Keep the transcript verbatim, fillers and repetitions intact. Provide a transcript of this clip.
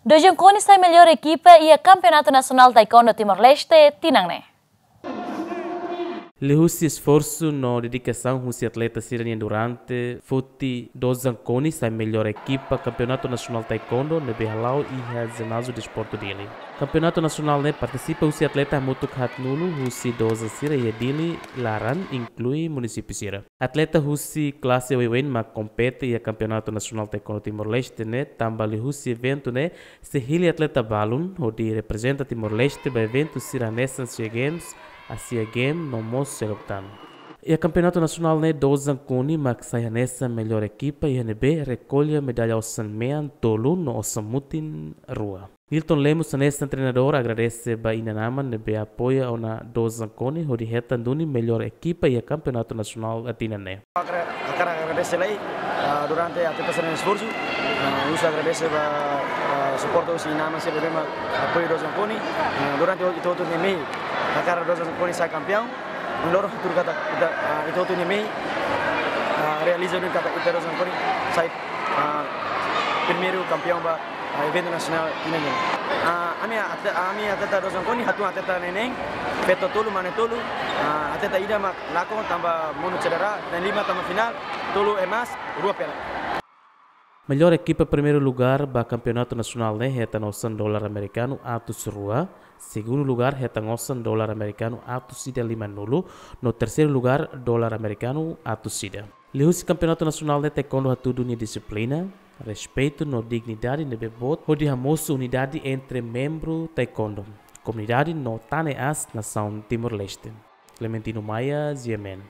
Dojan Koni sai mellór ekipa iha Kampeonatu Nasionál Taekwondo Timor-Leste tinan ne'e. Liuhusi esforsu no dedikasaun husi atleta sira-nian durante, foti Dojan Koni sai mellór ekipa Kampeonatu Nasionál Taekwondo ne'ebé hala'o iha Jináziu Desportu Dili. Kampeonatu nasionál ne'e partisipa husi atleta hamutuk haatnulu husi dojan sira iha Dili laran, inklui munisípiu sira. Atleta husi klase oioin mak kompete iha Kampeonatu Nasionál Taekwondo Timor-Leste ne'e, tanba liuhusi eventu ne'e sei hili atleta balun hodi reprezenta Timor-Leste ba eventu sira hanesan SEA Games, Asia Games no mós seluk tan. Iha kampeonatu nasionál ne'e Dojan Koni mak sai hanesan mellór ekipa iha ne'ebé rekolla medalla osan-mean tolu no osan-mutin rua. Nilton Lemos hanesan treinadór agradese ba inan-aman ne'ebé apoia ona Dojan Koni hodi hetan duni mellór ekipa iha kampeonatu nasionál tinan ne'e. Hakarak, hakarak agradese lai, ah, durante atleta sira-nia esforsu. Ah, husu agradese ba, ah, suporta husi inan-aman sira ne'ebé mak apoia Dojan Koni. Ah, durante ita hotu-nia mehi, hakarak Dojan Koni sai kampeaun. Loron futuru katak ita, ah, ita hotu-nia mehi, ah, realiza duni katak ita Dojan Koni sai, ah, primeiru kampeaun ba, ah, eventu nasionál tinan ne'e. Ah, ami ate-, ami atleta Dojan Koni hatun atleta neen-neen, feto tolu, mane tolu, ah, atleta ida mak lakon tanba monu cedera, na'in-lima tama finál, tolu emas, rua perak. Mellór ekipa primeiru lugar ba kampeonatu nasionál ne'e hetan osan dolar amerikanu atus rua, segundu lugar hetan osan dolar amerikanu atus ida limanulu, no terseiru lugar dolar amerikanu atus ida. Liuhusi kampeonatu nasionál ne'e taekwondo hatudu nia dixiplina, respeitu no dignidade ne'ebé boot hodi hamosu unidade entre membru taekwondo, komunidade no tan ne'e aas nasaun Timor-Leste. Clementino Maia, G M N.